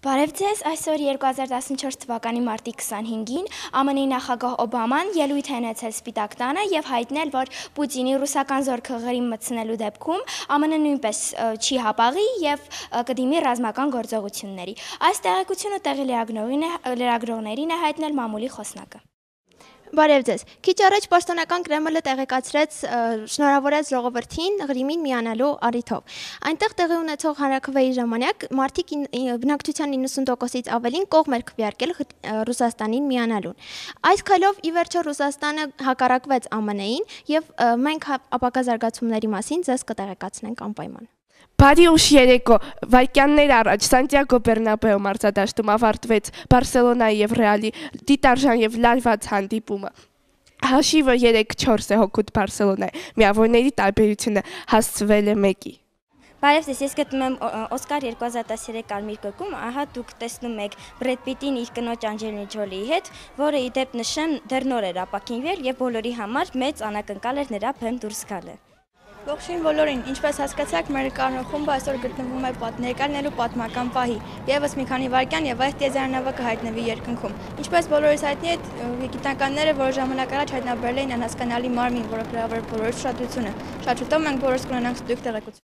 Բարև ձեզ, այսօր 2014 թվականի մարտի 25-ին ԱՄՆ-ի նախագահ Օբաման ելույթ է ունեցել Սպիտակ տանը և հայտնել, որ Պուտինի ռուսական զորքը Ղրիմ մտցնելու դեպքում ԱՄՆ-ն նույնպես չի հապաղի և կդիմի ռազմական գործողությունների։ Այս տեղեկությունը տեղի լրագրողներին է հայտնել մամուլի խոսնակը։ Բարև ձեզ։ Քիչ առաջ պաշտոնական Կրեմլը տեղեկացրեց շնորհավորեց ժողովրդին Ղրիմին միանալու առիթով։ Այնտեղ տեղի ունեցող հանրաքվեի ժամանակ մարդիկ բնակչության 90%-ից ավելին կողմ էր քվեարկել Ռուսաստանին միանալուն։ Այս քայլով ի վերջո Ռուսաստանը հակառակվեց ԱՄՆ-ին և մենք ապագա զարգացումների մասին ձեզ կտեղեկացնենք անպայման։ Բարի ուշ երեկո, վայրկյաններ առաջ Սանտիագո Բեռնաբեու մարզադաշտում ավարտվեց Բարսելոնայի և Ռեալի դիտարժան և լարված հանդիպումը։ Հաշիվը 3-4 է հօգուտ Բարսելոնայի, միավորների տարբերությունը հասցվել է 1-ի։ Բարև ձեզ, ես գտնում եմ Օսկար 2013 կարմիր գլխում, ահա դուք տեսնում եք Բրեդ Պիտին իր կնոջ Անջելինա Ջոլիի հետ, որը ի դեպ նշեմ դեռ նոր էր ապաքինվել և բոլորի համար մեծ անակնկալ էր նրա բեմ դուրս գալը։ Ողջույն բոլորին, ինչպես հասկացաք, մեր կանխումը այսօր գտնվում է ներկայացնելու պատմական պահի։ Եվս մի քանի վայրկյան եւ այս տիեզերանավը կհայտնվի երկնքում։ Ինչպես բոլորիս հայտնի է, գիտնականները որոշ ժամանակ առաջ հայտնաբերել էին անհասկանալի մարմին, որը գրավել բոլորի ուշադրությունը։ Շատ շուտով մենք բոլորս կունենանք ստույգ տեղեկություն։